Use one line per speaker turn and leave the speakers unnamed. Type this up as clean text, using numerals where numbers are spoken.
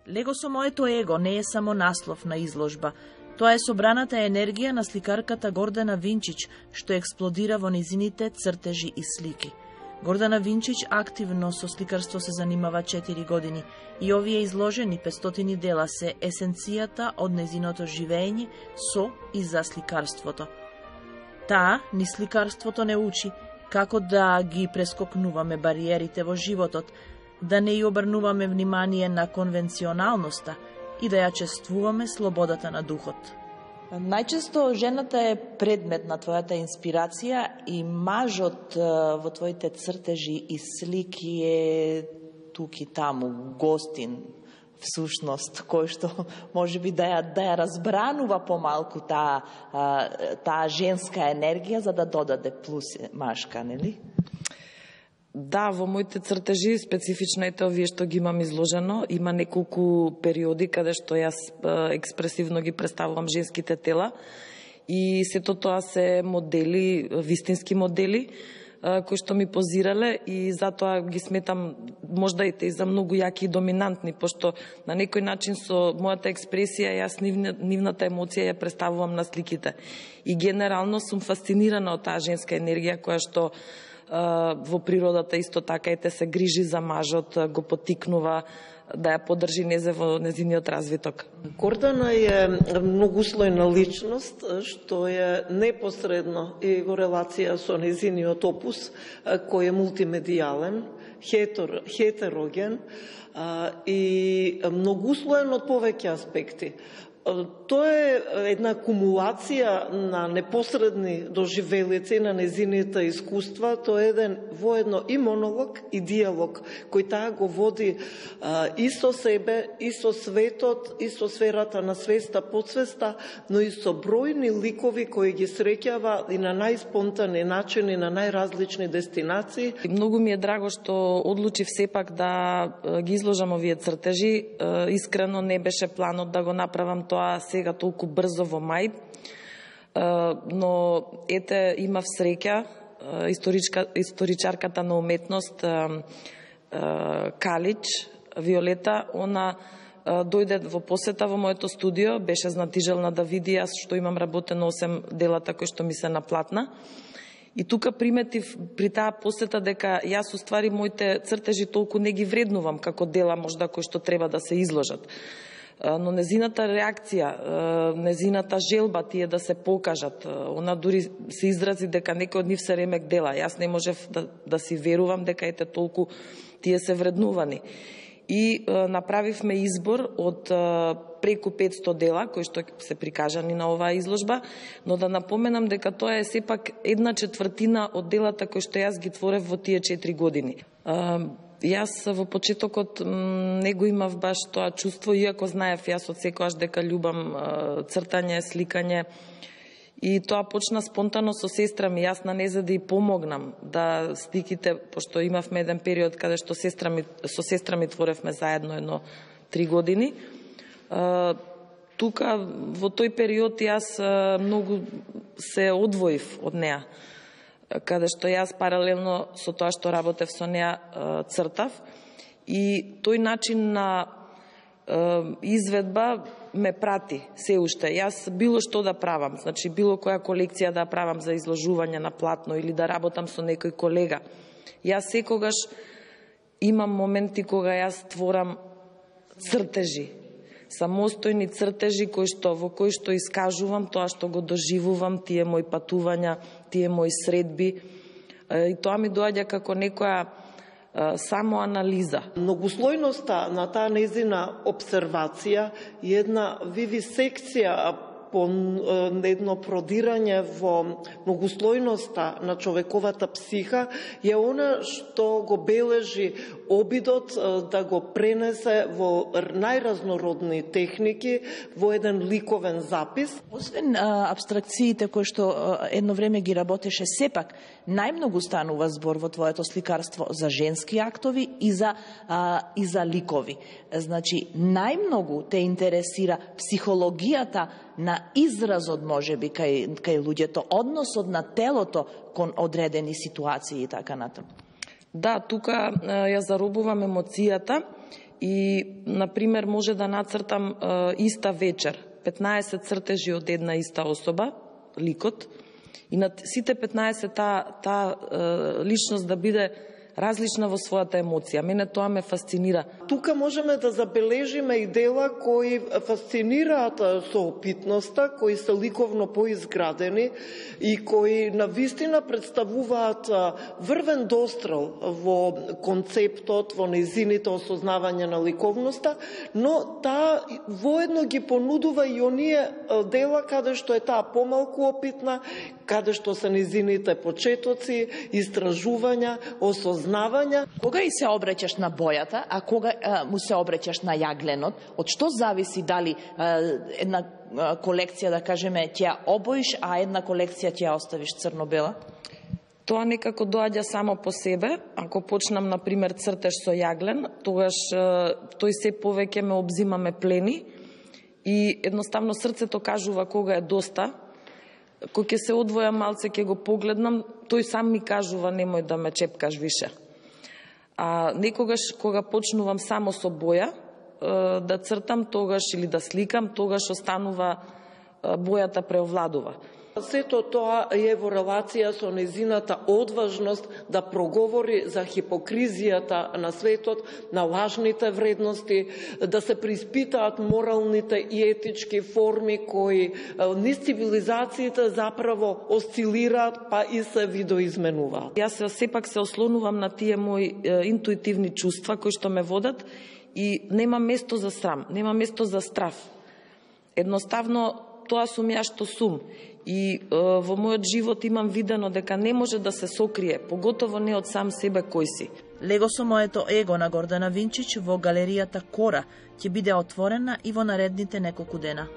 Лего со моето его не е само наслов на изложба. Тоа е собраната енергија на сликарката Гордана Винчич, што експлодира во низините цртежи и слики. Гордана Винчич активно со сликарство се занимава 4 години и овие изложени 500 дела се есенцијата од незиното живење со и за сликарството. Таа ни сликарството не учи како да ги прескокнуваме бариерите во животот, да не ја обрнуваме внимание на конвенционалноста и да ја чествуваме слободата на духот. Најчесто жената е предмет на твојата инспирација и мажот во твоите цртежи и слики е тук и таму, гостин, всушност, кој што може би да ја разбранува помалку таа женска енергија за да додаде плюс машка, нели?
Да, во моите цртежи, специфично ете овие што ги имам изложено, има неколку периоди каде што јас експресивно ги представувам женските тела и сето тоа се модели, вистински модели, кои што ми позирале и затоа ги сметам можда и за многу јаки и доминантни, пошто на некој начин со мојата експресија јас нивната емоција ја представувам на сликите. И генерално сум фасцинирана од таа женска енергија која што во природата исто така ете се грижи за мажот, го поттикнува да ја поддржи во незиниот развиток.
Гордана е многуслојна личност, што е непосредно и во релација со незиниот опус, кој е мултимедијален, хетероген и многуслоен од повеќе аспекти. Тоа е една кумулација на непосредни доживелици на незините искуства, тоа е еден воедно и монолог и диалог, кој таа го води и со себе, и со светот, и со сферата на свеста, подсвеста, но и со бројни ликови кои ги среќава и на најспонтани начини, на најразлични дестинации.
Многу ми е драго што одлучив сепак да ги изложам овие цртежи. Искрено не беше планот да го направам тоа сега толку брзо во мај, но ете имав среќа, историчарката на уметност Калич, Виолета, она дојде во посета во моето студио, беше знатижелна да види јас што имам работено 8 делата кои што ми се наплатна. И тука приметив при таа посета дека јас уствари моите цртежи толку не ги вреднувам како дела можда кои што треба да се изложат. Но незината реакција, незината желба тие да се покажат, она дури се изрази дека некој од нив се ремек дела. Јас не можев да си верувам дека ете толку тие се вреднувани. И направивме избор од преку 500 дела кои што се прикажани на оваа изложба, но да напоменам дека тоа е сепак 1/4 од делата кои што јас ги творев во тие 4 години. Јас во почетокот не го имав баш тоа чувство, иако знаев јас од секојаш дека љубам цртање, сликање. И тоа почна спонтано со сестра ми. Јас на неа за да и помогнам да сликите, пошто имавме еден период каде што со сестра ми творевме заедно 3 години. Тука во тој период јас многу се одвоив од неа, каде што јас паралелно со тоа што работев со неа цртав и тој начин на изведба ме прати се уште. Јас било што да правам, значи било која колекција да правам за изложување на платно или да работам со некој колега. Јас секогаш имам моменти кога јас творам цртежи, самостојни цртежи во кои што искажувам тоа што го доживувам, тие мои патувања, тие мои средби. И тоа ми доаѓа како некоја само анализа.
Многуслојноста на таа незина обсервација и една вивисекција по едно продирање во многуслојноста на човековата психа е она што го бележи обидот да го пренесе во најразнородни техники во еден ликовен запис.
Освен абстракциите кои што едно време ги работеше, сепак најмногу станува збор во твоето сликарство за женски актови и за ликови. Значи, најмногу те интересира психологијата на изразот, можеби, кај луѓето, односот на телото кон одредени ситуации и така натаму.
Да, тука ја заробувам емоцијата и например, може да нацртам иста вечер 15 цртежи од една иста особа, ликот, и на сите 15 таа личност да биде различна во својата емоција. Мене тоа ме фасцинира.
Тука можеме да забележиме и дела кои фасцинираат со опитноста, кои се ликовно поизградени и кои навистина представуваат врвен дострел во концептот, во нејзините осознавање на ликовноста, но таа воедно ги понудува и оние дела каде што е таа помалку опитна, каде што се нејзините почетоци, истражувања, осознавања.
Кога и се обреќаш на бојата, а кога му се обреќаш на јагленот, од што зависи дали една колекција, да кажеме, ќе ја обоиш, а една колекција ќе ја оставиш црно-бела?
Тоа некако доаѓа само по себе. Ако почнам, например, цртеж со јаглен, тогаш тој се повеќе ме обзимаме плени и едноставно срцето кажува кога е доста. Кој ќе се одвоја малце, ќе го погледнам, тој сам ми кажува немој да ме чепкаш више. А некогаш кога почнувам само со боја да цртам тогаш или да сликам, тогаш останува бојата преовладува.
Сето тоа е во релација со нејзината одважност да проговори за хипокризијата на светот, на лажните вредности, да се приспитаат моралните и етички форми кои низ цивилизациите заправо осцилираат, па и се видоизменуваат.
Јас сепак се ослонувам на тие мои интуитивни чувства кои што ме водат и нема место за срам, нема место за страф. Едноставно тоа сум ја што сум. И во мојот живот имам видено дека не може да се сокрие, поготово не од сам себе кој си.
Лего со моето его на Гордана Винчич во галеријата Кора ќе биде отворена и во наредните неколку дена.